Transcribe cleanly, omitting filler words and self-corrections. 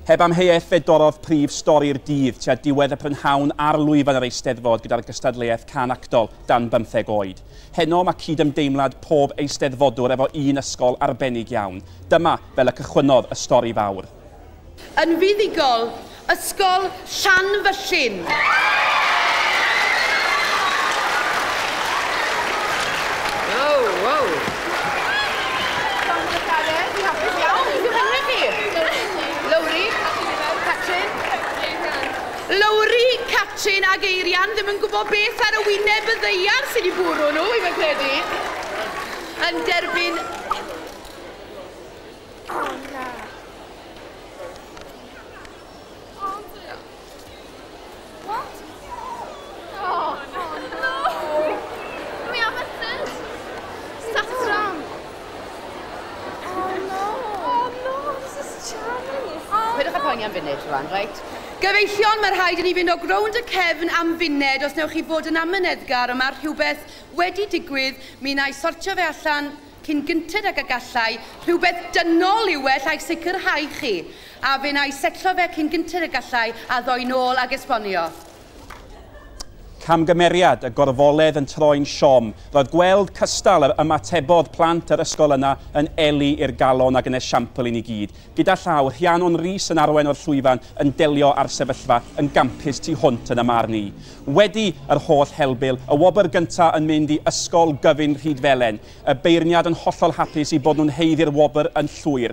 Heb amheuaeth fe dorrodd prif stori'r dydd tua diwedd y prynhawn ar lwyfan yr Eisteddfod gyda'r gystadleuaeth Cân Actol dan 15 oed. Heno mae cydymdeimlad pob eisteddfodwr efo un ysgol arbennig iawn. Dyma fel y cychwynnodd y stori fawr. Yn fuddugol, Ysgol Llanfyllin. Wow, wow. Llongyfarchiadau, fi'n hapus iawn. Beth yw'ch enwau chi? Lowri, Catrin. Lowri, Catrin ag Eirian ddim yn gwybod beth ar y wyneb y ddaear sydd wedi bwrw nhw, i fi'n credu. Yn derbyn... Oh, na. What? Oh, no! We have a third. Saffron. Oh, no. Oh, no, this is charming. Oh. Peidiwch â poeni am funud rwan, reit? Gyfeillion, mae rhaid i ni fynd o grownd y cefn am funud os newch chi fod yn amyneddgar, ond mae rhywbeth wedi digwydd, mi wna i sortio fe allan cyn gynted ag y gallai, rhywbeth dynol yw e, allai sicrhau chi. A fe wna i setlo fe cyn gynted y gallai a ddoi nôl ag esbonio. Camgymeriad, y gorfoledd yn troi'n siom. Roedd gweld cystal yr ymatebodd plant yr ysgol yna yn eli i'r galon ac yn esiampl i ni gyd. Gyda llaw, Rhiannon Rees yn arwain o'r llwyfan yn delio â'r sefyllfa yn gampus tu hwnt yn y marn i. Wedi yr holl helbul, y wobr gyntaf yn mynd i Ysgol Gyfun Rhydfelen. Y beirniad yn hollol hapus i bod nhw'n haeddu'r wobr yn llwyr.